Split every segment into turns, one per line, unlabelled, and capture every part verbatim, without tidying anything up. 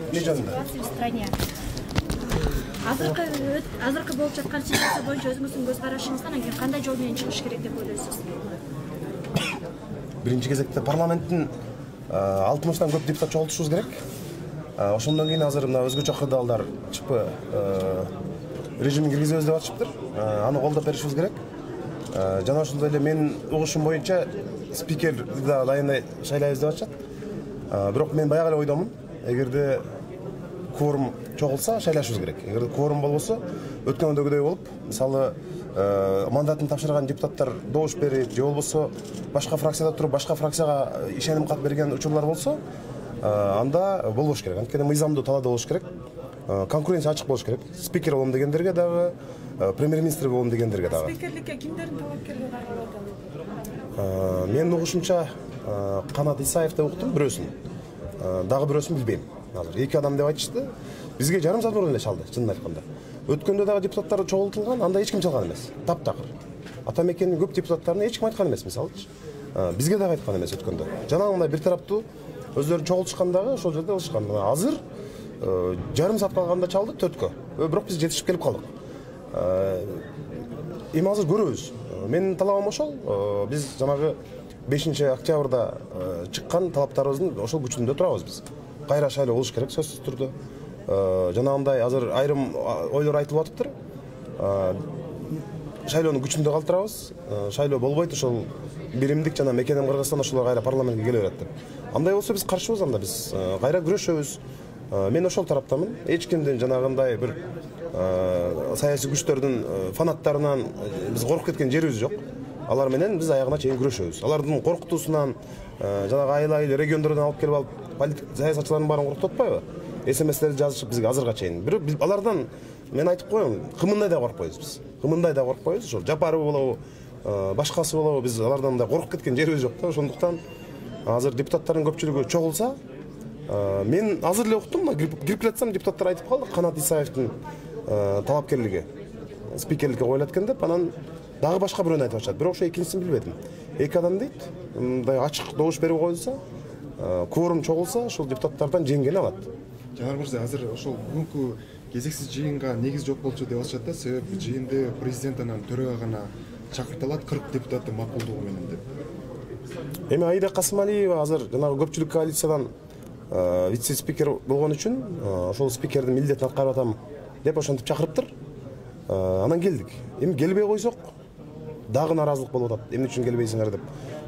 эмне жөнүндө?
Ситуация в стране. Азыркы азыркы болуп жаткан ситуация боюнча өзүңүздүн көз карашыңыздан анан кийин кандай жол менен чыгыш керек деп ойлойсуз?
Биринчи кезекте парламенттин алтымыштан көп депутат чогултушубуз керек. Ошондон кийин азыр мына өзгөчө кырдаалдар ЧП режимин киргизебиз деп атышыптыр. Аны колдоп беришибиз керек. Жана ошондой эле менин угушум боюнча спикерди да дайындай шайлайбыз деп атышат. Бирок мен баягы эле ойдомун. Эгерде кворум чогулса шайлашыбыз керек. Эгерде кворум болбосо өткөндөгүдөй болуп, мисалы мандатын тапшырган депутаттар добуш берип, же болбосо башка фракцияда туруп, башка фракцияга ишеним кат берген учурлар болсо, анда болбош керек. Анткени мыйзамдуу талаада болуш керек. Конкуренция ачык болуш керек. Спикер болом дегендерге дагы, премьер-министр болом дегендерге дагы.
Спикерликке кимдердин талапкерлиги каралып
атат? Менин угушумча Канат Исаев деп уктум, бирөөсүн. Дагы бирөөсүн билбейм. Азыр эки адам деп айтышты. Бизге жарым саат мурун эле чалды, чынын айтканда. Өткөндө дагы депутаттар чогултулган, анда эч ким чалган эмес. Таптакыр. Ата мекенин көп депутаттарына эч ким айткан эмес, мисалычы. Бизге дагы айткан эмес өткөндө. Жанагындай бир тараптуу өздөрү чогултушкандагы ошол жерде кылышкан. Азыр жарым саат калганда чалды төрткө. Бирок биз жетишип келип калдык. Эми азыр көрөбүз. Менин талабым ошол. Биз жанагы бешинчи октябрда чыккан талаптарыбыздын ошол күчүндө турабыз биз. Кайра шайлоо болуш керек сөзсүз түрдө. Жанагындай азыр айрым ойлор айтылып атыптыр. Шайлоонун күчүндө калтырабыз. Шайлоо болбойт, ошол биримдик жана мекенем Кыргызстан ошолор кайра парламентке келе берет деп. Андай болсо биз каршыбыз, анда биз кайра күрөшөбүз. Мен ошол тараптамын. Эч кимдин жанагындай бир саясий күчтөрдүн фанаттарынан биз коркуп кеткен жерибиз жок. Алар менен биз аягына чейин күрөшөбүз. Алардын коркутуусунан жанагы айыл-айыл региондордон алып келип алып политик саясатчылардын баарын коркутуп атпайбы? СМСтерди жазышып бизге азырга чейин. Бирок биз алардан мен айтып коем, кымындай да коркпойбуз биз. Кымындай да коркпойбуз. Ошол Жапаров болобу, башкасы болобу, биз алардан мындай коркуп кеткен жерибиз жок да. Ошондуктан азыр депутаттардын көпчүлүгү чогулса, мен азыр эле уктум, кирип жатсам депутаттар айтып калды, Канат Исаевдин талапкерлиги спикерликке коюлат экен деп, анан дагы башка бирөөнү айтып атышат. Бирок ошо экинчисин билбедим. Эки адам дейт, мындай ачык добуш берип коюлса, кворум чогулса, ошол депутаттардан жеңгени алат.
Жанар мырза, азыр ошол бүгүнкү кезексиз жыйынга негиз жок болчу деп атышат да, себеби жыйынды президент анан төрага гана чакыртылат, кырк депутаттын макулдугу менен деп.
Эми Аида Касымалиева азыр жанагы көпчүлүк коалициядан вице-спикер болгон үчүн ошол спикердин милдетин аткарып атам деп ошентип чакырыптыр. Анан келдик. Эми келбей койсок дагы наразылык болуп атат. Эмне үчүн келбейсиңер деп.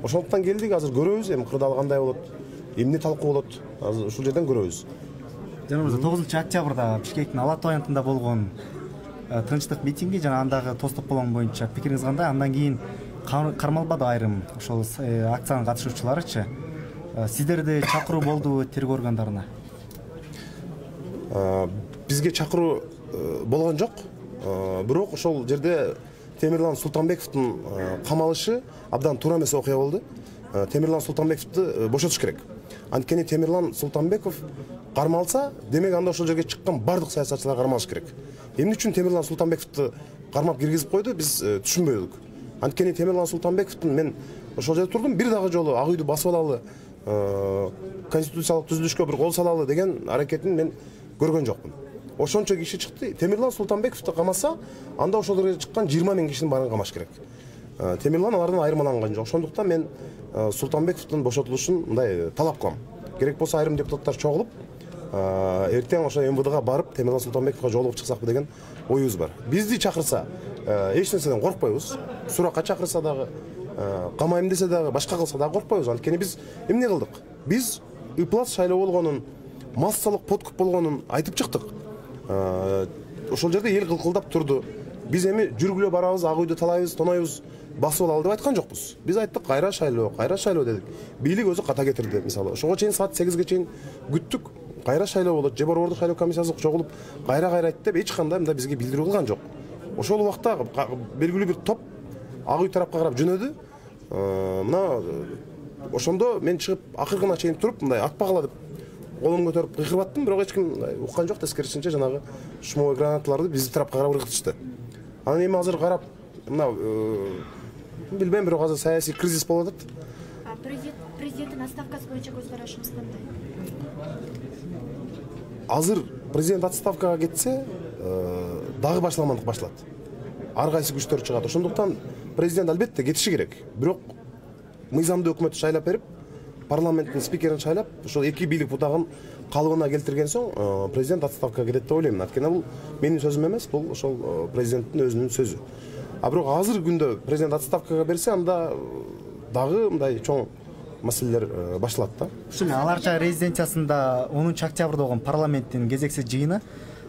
Ошондуктан келдик, азыр көрөбүз, эми кырдаал кандай болот, эмне талкуу болот, азыр ушул жерден көрөбүз.
Жана мырза, тогузунчу октябрда Бишкектин Ала Тоо аянтында болгон тынчтык митинги жана андагы тостук болгон боюнча пикириңиз кандай? Андан кийин кармалбады айрым ошол акциянын катышуучуларычы? Сиздерде чакыруу болдубу тергөө органдарына?
Бизге чакыруу болгон жок. Бирок ошол жерде Темирлан Султанбековдун камалышы абдан туура эмес окуя болду. Темирлан Султанбековду бошотуш керек. Анткени Темирлан Султанбеков кармалса, демек анда ошол жерге чыккан бардык саясатчылар кармалыш керек. Эмне үчүн Темирлан Султанбековду кармап киргизип койду, биз түшүнбөдүк. Анткени Темирлан Султанбековдун мен ошол жерде турдум, бир дагы жолу ак үйдү басып алалы, конституциялык түзүлүшкө бир кол салалы деген аракетин мен көргөн жокмун. Ошончо киши чыкты. Темирлан Султанбековду камаса, анда ошол жерге чыккан жыйырма миң кишинин баарын камаш керек. Темирлан алардан айырмаланган жок. Ошондуктан мен Султанбековдун бошотулушун мындай талап кылам. Керек болсо айрым депутаттар чогулуп, эртең ошо эм вэ дэга барып Темирлан Султанбековго жолугуп чыксакпы деген оюбуз бар. Бизди чакырса, эч нерседен коркпойбуз. Суракка чакырса дагы, камайм десе дагы, башка кылса дагы коркпойбуз. Анткени биз эмне кылдык? Биз ыплас шайлоо болгонун, массалык подкуп болгонун айтып чыктык. Ошол жерде эл кылкылдап турду. Биз эми жүргүлө барабыз, ак үйдү талайбыз, тонойбуз, басып алалы деп айткан жокпуз. Биз айттык, кайра шайлоо, кайра шайлоо дедик. Бийлик өзү ката кетирди, мисалы. Ошого чейин саат сегизге чейин күттүк. Кайра шайлоо болот, же борбордук шайлоо комиссиясы чогулуп, кайра-кайра айтты деп эч кандай мында бизге билдирүү кылган жок. Ошол убакта белгилүү бир топ ак үй тарапка карап жөнөдү. Мына ошондо мен чыгып акыркына чейин туруп, мындай атпагыла деп колум көтөрүп кыйкырып аттым, бирок эч ким уккан жок. Тескерисинче жанагы шумовой гранаталарды биздин тарапка карап ыргытышты. Анан эми азыр карап, мына билбейм, бирок азыр саясий кризис болуп атат.
Президенттин отставкасы боюнча көз карашыңыз кандай?
азыр президент отставкага кетсе дагы башламандык башалат. Ар кайсы күчтөр чыгат. Ошондуктан президент албетте кетиши керек. Бирок мыйзамдуу өкмөттү шайлап берип, парламенттин спикерин шайлап, ошол эки бийлик бутагын калыбына келтирген соң президент отставкага кетет деп ойлойм. Анткени бул менин сөзүм эмес, бул ошол президенттин өзүнүн сөзү. А бирок азыр күндө президент отставкага берсе, анда дагы мындай чоң маселелер башталат да.
Ушул аларча резиденциясында онунчу октябрда болгон парламенттин кезексиз жыйыны,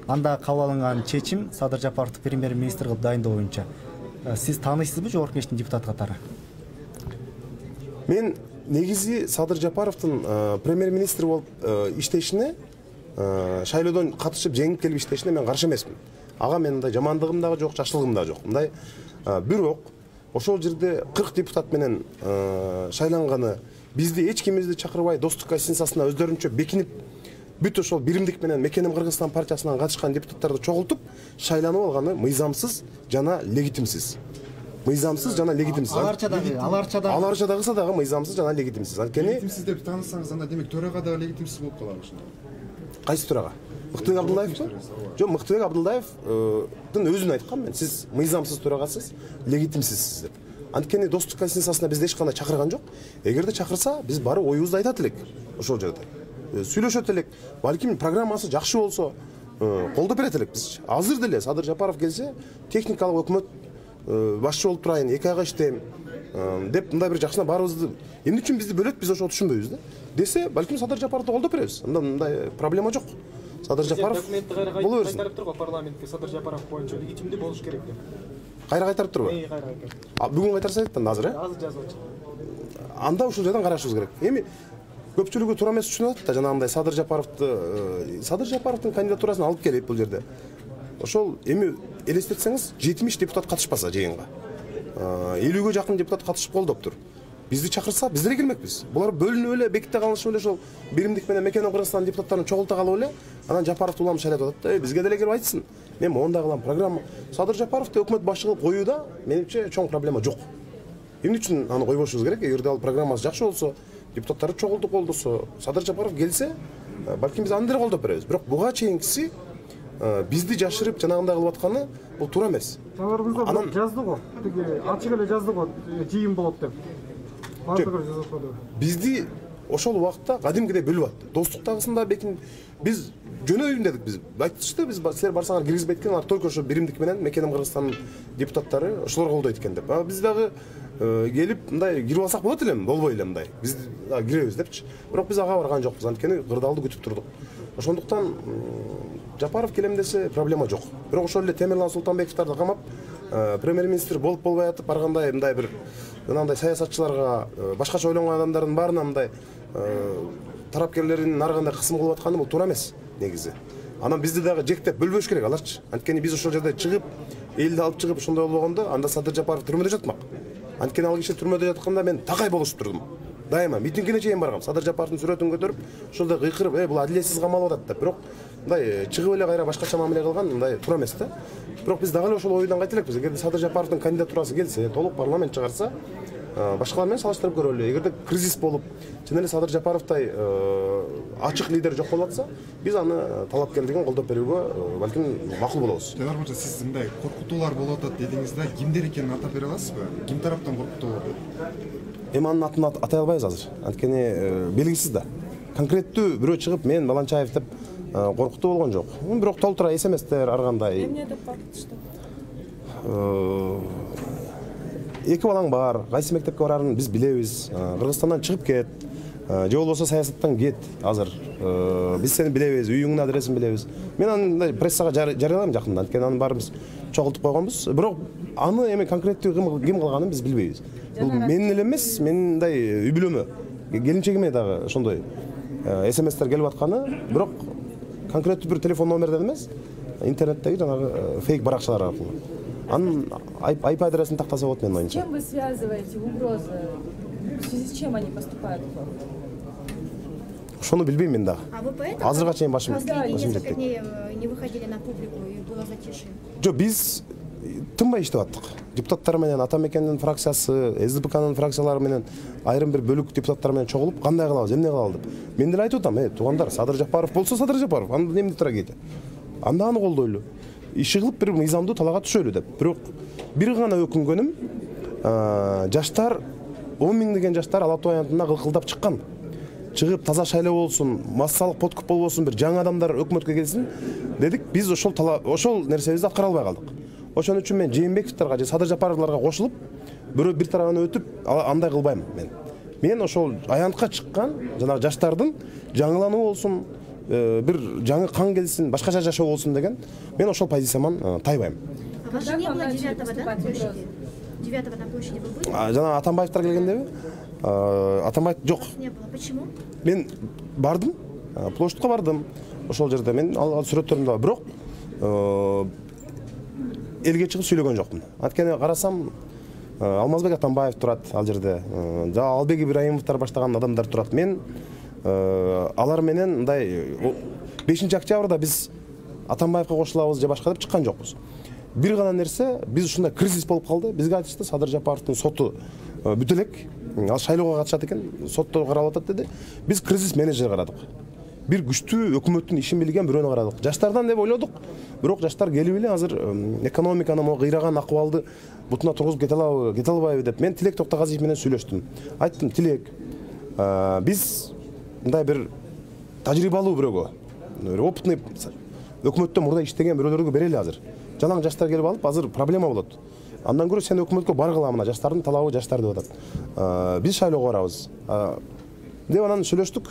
анда кабыл алынган чечим Садыр Жапаровду премьер-министр кылып дайындоо боюнча. Сиз тааныйсызбы Жогорку Кеңештин депутаты катары?
Мен негизи Садыр Жапаровдун премьер-министр болуп иштешине, шайлоодон катышып жеңип келип иштешине мен каршы эмесмин. Ага мен мындай жамандыгым дагы жок, жакшылыгым дагы жок. Мындай бирок ошол жерде кырк депутат менен шайланганы бизди эч кимибизди чакырбай достук конституциясына өздөрүнчө бекинип, бүт ошол биримдик менен Мекеним Кыргызстан партиясынан катышкан депутаттарды чогултуп шайланып алганы мыйзамсыз жана легитимсиз. Мыйзамсыз жана легитимсиз.
Аларча дагы, аларча дагы.
Аларча дагысы дагы мыйзамсыз жана легитимсиз. Анткени
легитимсиз деп таанысаңыз, анда демек төрага дагы легитимсиз болуп калат ошондо.
Кайсы төрага? Мыктыбек Абдуллаевбы? Жок, Мыктыбек Абдуллаевдын өзүн айткам мен. Сиз мыйзамсыз төрагасыз, легитимсизсиз деп. Анткени достук конституциясына бизди эч кандай чакырган жок. Эгерде чакырса, биз барып оюбузду айтат элек ошол жерде. Сүйлөшөт элек. Балким программасы жакшы болсо, колдоп берет элек биз. Азыр деле Садыр Жапаров келсе, техникалык өкмөт башчы болуп турайын, эки айга иштейм деп мындай бир жакшына баарыбызды эмне үчүн бизди бөлөт, биз ошол түшүнбөйбүз да. Десе, балким Садыр Жапаровду колдоп беребиз. Анда мындай проблема жок. Садыр Жапаров боло берсин.
Кайтарып тургу парламентке Садыр Жапаров боюнча легитимдүү болуш керек деп.
Кайра кайтарып турбу?
Эй, кайра кайтарып.
А бүгүн кайтарса айтты азыр, э?
Азыр жазып атат.
Анда ушул жерден карашыбыз керек. Эми көпчүлүгү туура эмес түшүнүп атат да, жанагындай Садыр Жапаровду, Садыр Жапаровдун кандидатурасын алып келип бул жерде. Ошол эми элестетсеңиз, жетимиш депутат катышпаса жыйынга. элүүгө жакын депутат катышып колдоптур. Бизди чакырса, биз деле келмекпиз. Булар бөлүнүп эле, беките калышып эле ошол биримдик менен Мекеним Кыргызстан депутаттарын чогулта калып эле, анан Жапаровду улам шайлап атат да. Бизге деле келип айтсын. Мен мондай кылам программа. Садыр Жапаровду өкмөт башчы кылып коюуда менимче чоң проблема жок. Эмне үчүн аны койбошубуз керек? Эгерде ал программасы жакшы болсо, депутаттарды чогултуп колдосо, Садыр Жапаров келсе, балким биз аны деле колдоп беребиз. Бирок буга чейинкиси бизди жашырып жанагындай кылып атканы бул туура эмес.
Аларыбызда анан жазды го. Тиги ачык эле жазды го, жыйын болот деп. Бардыгы жазып коду.
Бизди ошол убакта кадимкидей бөлүп атты. Достуктагысында бекин биз жөнөйүн дедик биз. Айтышты биз силер барсаңар киргизбейт экен, алар только ошо биримдик менен Мекеним Кыргызстан депутаттары ошолор колдойт экен деп. А биз дагы келип мындай кирип алсак болот элеми, болбой эле мындай. Биз дагы киребиз депчи. Бирок биз ага барган жокпуз, анткени кырдаалды күтүп турдук. Ошондуктан Жапаров келем десе проблема жок. Бирок ошол эле Темирлан Султанбековдорду камап, премьер-министр болуп болбой атып баргандай мындай бир жанагындай саясатчыларга, башкача ойлонгон адамдардын баарына мындай тарапкерлерин ар кандай кысым кылып атканы бул туура эмес негизи. Анан бизди дагы жектеп бөлбөш керек аларчы. Анткени биз ошол жерде чыгып, элди алып чыгып ошондой болбогондо, анда Садыр Жапаров түрмөдө жатмак. Анткени ал киши түрмөдө жатканда мен такай болушуп турдум. Дайыма митингине чейин баргам. Садыр Жапаровдун сүрөтүн көтөрүп, ошолдо кыйкырып, "Э, бул адилетсиз камалып атат" деп. Бирок мындай чыгып эле кайра башкача мамиле кылган мындай туура эмес да. Бирок биз дагы эле ошол ойдон кайта элекпиз. Эгерде Садыр Жапаровдун кандидатурасы келсе, толук парламент чыгарса, башкалар менен салыштырып көрөлү. Эгерде кризис болуп, чын эле Садыр Жапаровдай ачык лидер жок болуп атса, биз аны талапкерлигин колдоп берүүгө балким макул болобуз.
Теңер мырза, сиз мындай коркутуулар болуп атат дедиңиз да, кимдер экенин атап бере аласызбы? Ким тараптан коркутуу болуп атат?
Эми анын атын атай албайбыз азыр. Анткени белгисиз да. Конкреттүү бирөө чыгып мен Баланчаев деп коркутуу болгон жок. Бирок толтура эсеместер ар кандай.
Эмне деп коркутушту?
Эки балаң бар, кайсы мектепке барарын биз билебиз. Кыргызстандан чыгып кет, же болбосо саясаттан кет азыр. Биз сени билебиз, үйүңдүн адресин билебиз. Мен аны прессага жарыялайм жакында, анткени аны баарыбыз чогултуп койгонбуз. Бирок аны эми конкреттүү ким кылганын биз билбейбиз. Бул менин эле эмес, менин мындай үй бүлөмө, келинчегиме дагы ошондой эсеместер келип атканы, бирок конкреттүү бир телефон номерден эмес, интернеттеги жанагы фейк баракчалар аркылуу. Анын ай пи адресин тактаса болот менин оюмча.
С чем вы связываете угрозы? В связи с чем они поступают к вам?
Ошону билбейм мен дагы.
А вы поэтому
Азырга чейин башым
последние
башым
несколько
жетпейт.
дней не выходили на публику и было затишье?
Жок, биз тынбай иштеп аттык. Депутаттар менен Атамекендин фракциясы, СДПКнын фракциялары менен айрым бир бөлүк депутаттар менен чогулуп кандай кылабыз, эмне кылалы деп. Мен деле айтып атам, э, туугандар, Садыр Жапаров болсо Садыр Жапаров, анда эмне тура кейде. Анда аны колдойлу. Иши кылып бир мыйзамдуу талаага түшөлү деп. Бирок бир гана өкүнгөнүм, жаштар он миңдеген жаштар Ала Тоо аянтына кылкылдап чыккан. Чыгып таза шайлоо болсун, массалык подкуп болбосун, бир жаңы адамдар өкмөткө келсин дедик. Биз ошол ошол нерсебизди аткара албай калдык. Ошон үчүн мен Жээнбековдорго же Садыр Жапаровдорго кошулуп, бирөө бир тарабына өтүп, андай кылбайм мен. Мен ошол аянтка чыккан жанагы жаштардын жаңылануу болсун, бир жаңы кан келсин, башкача жашоо болсун деген мен ошол позицияман тайбайм.
Вас не было девятого, да, на площади? девятого на площади вы были?
Жана Атамбаевдер келгендеби? Атамбаев жок.
Не было. Почему?
Мен бардым, площадька бардым. Ошол жерде мен алган сүрөттөрүм да бар. Бирок элге чыгып сүйлөгөн жокмун. Анткени карасам, Алмазбек Атамбаев турат ал жерде. Жана Албек Ибраимовдор баштаган адамдар турат. Мен алар менен мындай бешинчи октябрда биз Атамбаевга кошулабыз же башка деп чыккан жокпуз. Бир гана нерсе, биз ушундай кризис болуп калды. Бизге айтышты, Садыр Жапаровдун соту бүтө элек. Ал шайлоого катышат экен, сотто каралып атат деди. Биз кризис менеджер карадык. Бир күчтүү өкмөттүн ишин билген бирөөнү карадык. Жаштардан деп ойлодук. Бирок жаштар келип эле азыр экономиканын могу кыйраган акыбалды бутуна тургузуп кете алабы, кете албайбы деп мен Тилек Токтогазиев менен сүйлөштүм. Айттым, Тилек, биз мындай бир тажрыйбалуу бирөөгө, опытный өкмөттө мурда иштеген бирөөлөргө берели азыр. Жалаң жаштар келип алып, азыр проблема болот. Андан көрө сен өкмөткө баргыла, мына жаштардын талабы жаштар деп атат. Биз шайлоого барабыз. Деп анан сүйлөштүк.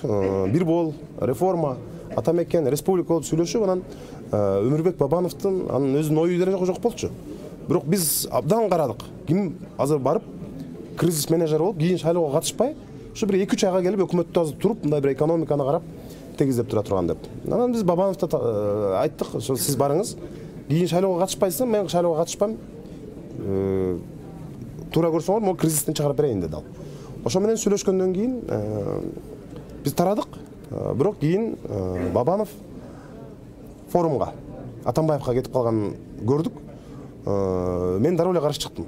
Бир бол, реформа, Атамекен, республика болуп сүйлөшүп, анан Өмүрбек Бабановдун анын өзүнүн ою деле жок болчу. Бирок биз абдан карадык. Ким азыр барып кризис менеджер болуп, кийин шайлоого катышпай, ушу бир эки үч айга келип өкмөттө азыр туруп, мындай бир экономиканы карап тегиздеп тура турган деп. Анан биз Бабановдо айттык, ошо сиз барыңыз. Кийин шайлоого катышпайсың, мен шайлоого катышпайм. Туура көрсөңөр, могу кризистен чыгарып берейин деди ал. Ошо менен сүйлөшкөндөн кийин биз тарадык. Бирок кийин Бабанов форумга, Атамбаевга кетип калганын көрдүк. Мен дароо эле каршы чыктым.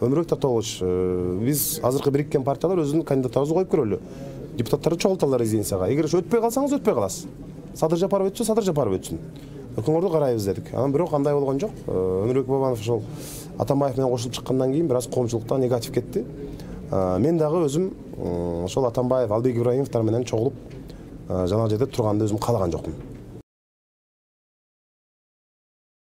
Өмүрбек Татаалович, биз азыркы бириккен партиялар өзүнүн кандидатыбызды коюп көрөлү. Депутаттарды чогулталар резиденцияга. Эгер өтпөй калсаңыз, өтпөй каласыз. Садыр Жапаров өтсө, Садыр Жапаров өтсүн. Өкүңөрдү карайбыз дедик. Анан бирок андай болгон жок. Өмүрбек Бабанов ошол Атамбаев менен кошулуп чыккандан кийин бир аз коомчулуктан негатив кетти. Мен дагы өзүм ошол Атамбаев, Албек Ибраимовдор менен чогулуп жанагы жерде турганды өзүм каалаган жокмун.